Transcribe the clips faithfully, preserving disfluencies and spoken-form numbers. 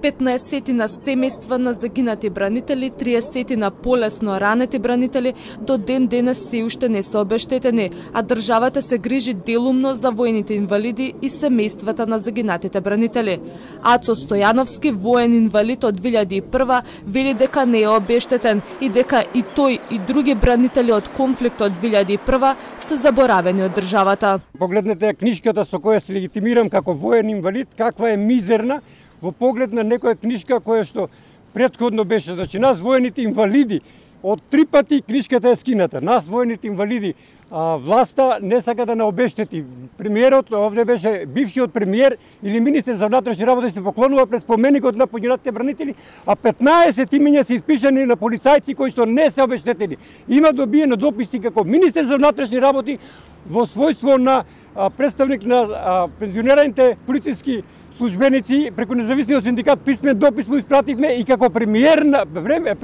петнаесет на семејства на загинати бранители, триесет на полесно ранети бранители до ден денес се уште не се обештетени, а државата се грижи делумно за воените инвалиди и семејствата на загинатите бранители. Ацо Стојановски, воен инвалид од две илјади и прва, вели дека не е обештетен и дека и тој и други бранители од конфликтот од две илјади и прва се заборавени од државата. Погледнете книжката со која се легитимирам како воен инвалид, каква е мизерна во поглед на некоја книжка која што претходно беше. Значи, нас воените инвалиди, од три пати книжката е скината. Нас воените инвалиди, а, власта не сака да не обештети. Премиерот овде беше бившиот премиер или министер за внатрешни работи се поклонува пред споменикот на погинатите бранители, а петнаесет имиња се испишани на полицајци кои што не се обештетени. Има добиено дописи како министер за внатрешни работи во својство на а, представник на а, пензионираните полициски службеници, преку независниот синдикат писмен допис му испративме и како премиер на време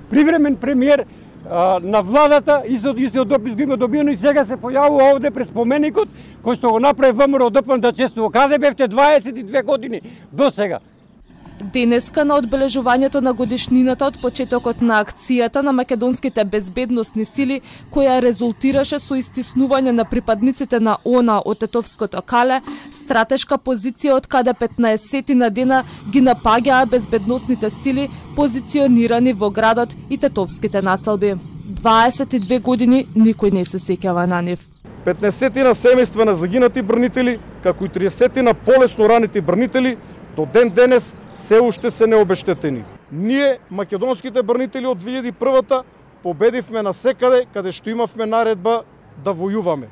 привремен премиер а, на владата, исто истиот допис го има добиено и сега се појавува овде пред споменикот кој што го направи ВМРО ДПМН да чествува. Каде бевте дваесет и две години до сега? Денеска на одбележувањето на годишнината од почетокот на акцијата на македонските безбедносни сили, која резултираше со истиснување на припадниците на ОНА од Тетовското кале, стратешка позиција од каде петнаесет на дена ги напаѓаа безбедносните сили позиционирани во градот и тетовските населби. дваесет и две години никој не се сеќава на нив. петнаесет на семејства на загинати бранители, како и триесет на полесно ранети бранители, до ден денес се уште се необештетени. Ние, македонските бранители од две илјади и прва, победивме на секаде каде што имавме наредба да војуваме.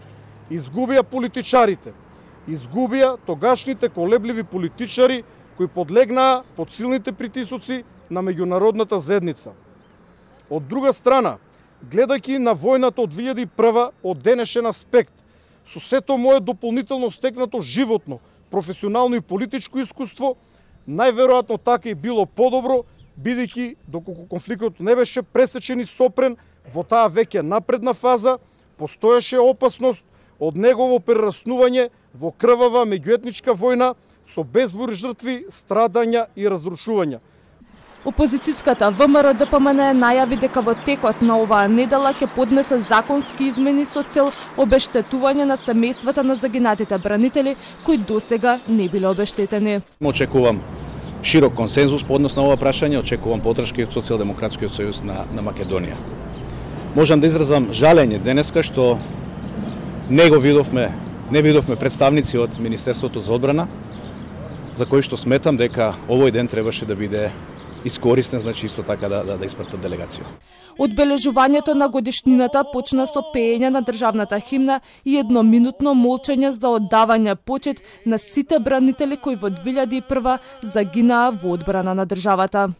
Изгубија политичарите, изгубија тогашните колебливи политичари кои подлегнаа под силните притисоци на меѓународната заедница. Од друга страна, гледајќи на војната од две илјади и прва од денешен аспект, со сето мое дополнително стекнато животно, професионално и политичко искуство, најверојатно така и било подобро, бидејќи доколку конфликтот не беше пресечен и сопрен во таа веќе напредна фаза, постоеше опасност од негово прераснување во крвава меѓуетничка војна со безброј жртви, страдања и разрушувања. Опозицијската ВМРО ДПМН најави дека во текот на оваа недела ќе поднесе законски измени со цел обештетување на семејствата на загинатите бранители кои досега не биле обештетени. Очекувам широк консензус по однос на ова прашање, очекувам поддршка од Социјалдемократскиот сојуз на, на Македонија. Можам да изразам жалење денеска што не го видовме, не видовме представници од Министерството за одбрана, за кои што сметам дека овој ден требаше да биде искористен, значи исто така да, да, да испратат делегација. Одбележувањето на годишнината почна со пеење на државната химна и едноминутно молчење за оддавање почит на сите бранители кои во две илјади и прва загинаа во одбрана на државата.